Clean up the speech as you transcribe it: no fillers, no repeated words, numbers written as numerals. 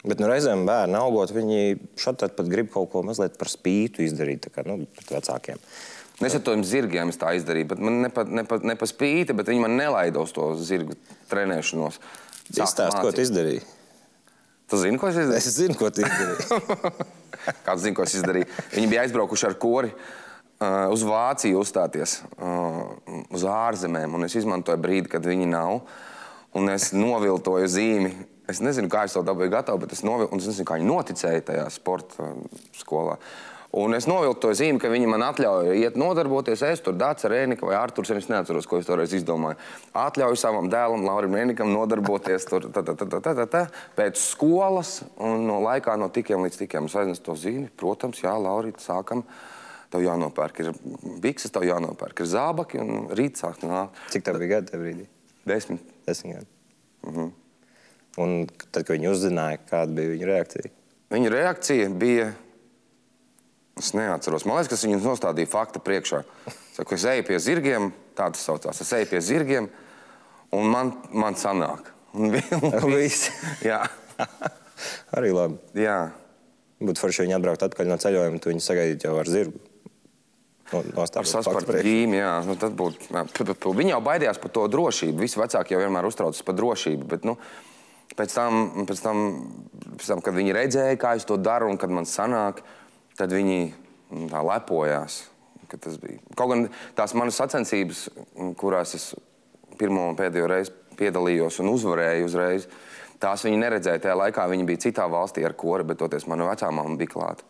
Bet nu, reizēm bērni augot, viņi šatad pat grib kaut ko mazliet par spītu izdarīt, tā kā, nu, pret vecākiem. Es ar tiem zirgiem tā izdarīju, bet man ne pa spīti, bet viņi man nelaida uz to zirgu trenēšanos. Izstāst, ko tu izdarīji? Tu zini, ko es izdarīju? Es zinu, ko tu izdarīji. Kāds zina, ko es izdarīju? Viņi bija aizbraukuši ar kori uz Vāciju uzstāties, uz ārzemēm, un es izmantoju brīdi, kad viņi nav, un es noviltoju zīmi. Es nezinu, kā es to dabūju gatavu, bet es noviltoju, un es nezinu, kā viņi noticēja tajā sporta skolā. Un es noviltoju zīmi, ka viņi man atļauja iet nodarboties, es tur Dāca Rēnika vai Arturs, es neatceros, ko es toreiz izdomāju. Atļauju savam dēlam, Laurim Rēnikam, nodarboties tur pēc skolas, un no laikā no tikiem līdz tikiem. Es aiznesu to zīmi, protams, jā, Laurīt, sākam. Tev jānopērk, ir bikses, tev jānopērk, ir zābaki, un rīt sākt nāk. Cik tev bija gadi tev brīdī? 10. 10 gadi. Un tad, kad viņi uzzināja, kāda bija viņa reakcija? Viņa reakcija bija, es neatceros, man liekas, ka viņus nostādīja fakta priekšā. Saku, es eju pie zirgiem, tā tas saucās, es eju pie zirgiem, un man sanāk. Un viss? Jā. Arī labi. Jā. Būtu forši viņi atbraukt atpakaļ no ceļojuma, tu viņi sagaidīt jau ar zirgu. Ar saspartu ģīmi, jā. Nu, tad būtu, viņi jau baidījās par to drošību. Visi vecāki jau vienmēr uztraucas par drošību, bet, nu, pēc tam, kad viņi redzēja, kā es to daru un kad man sanāk, tad viņi tā lepojās, ka tas bija. Kaut gan tās manas sacensības, kurās es pirmo un pēdējo reizi piedalījos un uzvarēju uzreiz, tās viņi neredzēja tajā laikā, viņi bija citā valstī ar kori, bet toties mana vecā mamma bija klāta.